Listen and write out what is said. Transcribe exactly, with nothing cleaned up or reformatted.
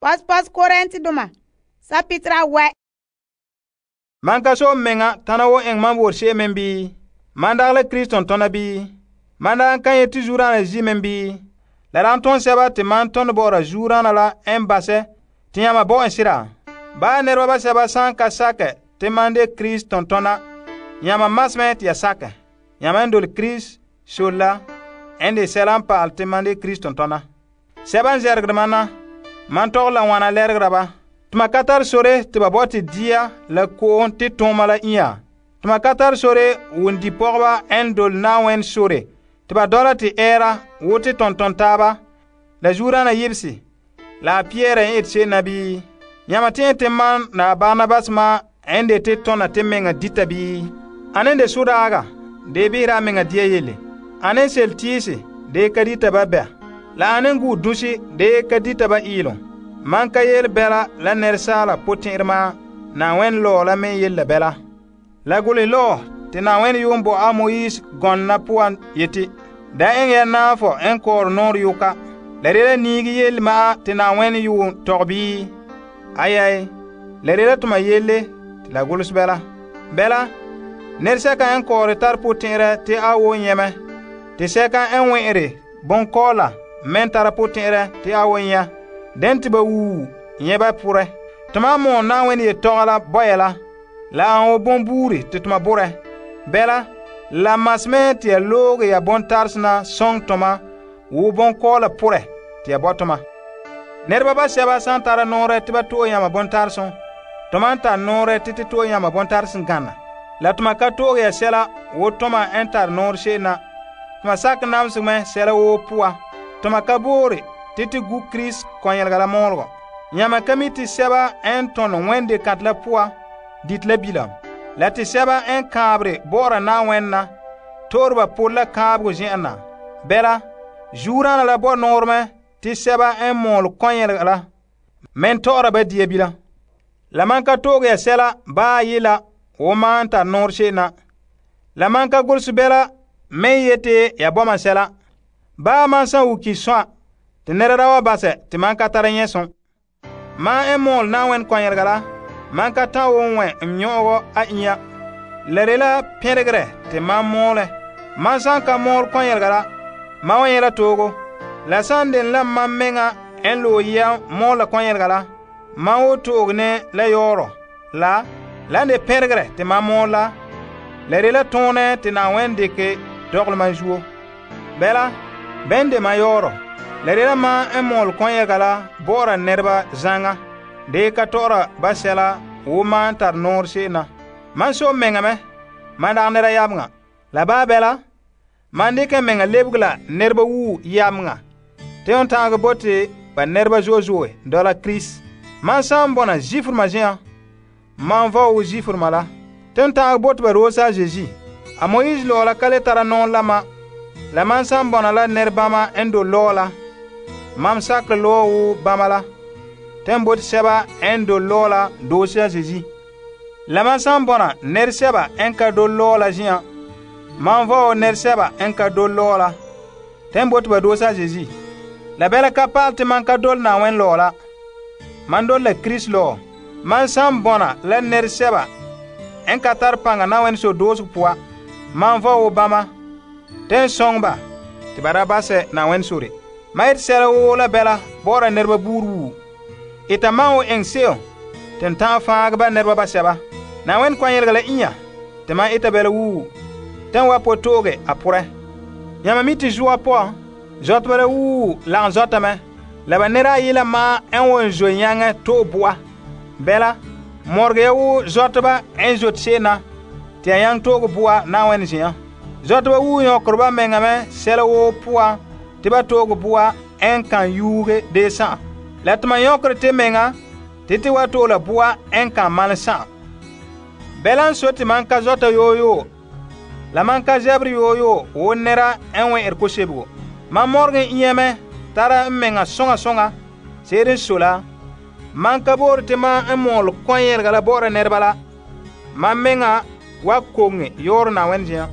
Pos-pos Korintedoma, sapitra wɛ. Man ka so menga tana wo eng man wor she men bi? Man dag la Krist tontona bi? Man da kan yeti zurana zi men bi? La dan ton seba te man ton bora zurana la en base te yama bo en sira. Ba nerba ba seba san ka sake te man de Krist tontona, yama masme te ya sake. Yama en dol Krist sola en de selan paal te man de Krist tontona. Seba zergde mana, man tog la wana lergra ba. Tuma katar sore te ba boti dia la koon te toma la iya. Tuma katar sore wun di pogba en dol nawen sore te ba dola te era wote tonton taba la jurana yibsi la Pierre en et se nabi. Yama te man na Barnabas ma en de te tona te menga dita bi. Anen de sudaga de bira menga dia yele. Anen sel tisi de kadita ba be. La anen gu dusi de kadita ba ilon. Man ka yel bela la nersala potirma na wen lo la men yel bela. La guli lo te na wen yum bo a Moise gonna puan yeti. Da en ya nafo en kor nor yuka. La rela nigi yel ma te na wen yum togbi. Ayay. La rela tuma yelle te la gulus bela. Bela. Nerseka en kor tar potire te a wo nyeme. Te seka en wenre bon kola men tar potire te a wo nya. Den te ba wu nyeba pure. Tuma mo na wen ye togala boyela. La an wo bon buri te tuma bure. Bela la masme te ya loge ya bon tarsna song toma wo bon kola pure te ya botoma. Nerba ba seba san tara nore te ba to yama bon tarson. Toma ta nore te te to yama bon tarsin ganna. La tuma ka to ya sela wo toma entar nor shena. Tuma sak namsme sela wo puwa. Toma ka bore titi gu Krist konyelga la molgo. Nyama kamiti seba en ton wende kat la pua dit la bilam. La ti seba en kabre bora na wenna torba pola kabgo jena. Bela jurana la bo norme ti seba en mol konyelga la men tora ba die bila. La manka toge ya sela ba yila o man ta norshe na. La manka gulsu bela men yete ya boma sela. Ba man san wuki soa te nerada wa base te man ka tara nyeson. Man en mol na wen kwanyerga la, man ka ta won wen mnyogo a inya. Lere la peregre te man mole. Man san ka mol kwanyerga la, man wen yela togo. La san den la man menga en lo ya mol la kwanyerga la, man wo togo ne la yoro. La, la de peregre te man mol la. Lere la tone te na wen deke dogl man juo. Bela, ben de man yoro. La rela ma en mol konyega la bora nerba zanga de ka tora basela wo man tar nor shena. Man so menga me man da nera yamnga. La ba bela man de ke menga lebgla nerba wu yamnga. Te on tanga bote ba nerba jojoe dola Chris. Man sam bona jifur ma jian. Man va wo jifur mala. Te on tanga bote ba rosa Jésus. A Moïse lo la kale tara non lama. La man sam bona la nerba ma endo lola. Mam sakre lo wu bamala. Tembot seba en do lola dosia Jésus. La man san bona ner seba en ka do lola jian. Man vo ner seba en ka do lola. Tembot ba dosia Jésus. La bela kapal te man ka dol na wen lola. Man dol la Christ lo. Man san bona la ner seba en ka tar panga na wen so dosu puwa. Man vo wu bama. Ten songba te barabase na wen suri. Maït sela wo la bela bora nerba buru. Ita mao eng seo. Ten tan faag ba nerba ba seba. Na wen kwanyelga la inya. Te ma ita bela wu. Ten wa po toge apure. Yama miti jua po. Zot bela wu lang zota me. Laba nera yila ma en won zo nyange to bua. Bela. Morge ya wu zota ba en zot sena. Te yang toge bua na wen zian. Zota ba wu yokorba mengame sela wo pua. Tiba togo bua en kan yuge de sa. La tuma yokre te menga, titi wa to la bua en kan mal sa. Belan soti man ka zota yo yo. La man ka zebri yo yo, wo nera en we erko sebgo. Man morgen iyeme, tara menga songa songa, serin sola. Man ka bor te man en mol konyer gala bora nerbala. Man menga wa konge yor na wenjia.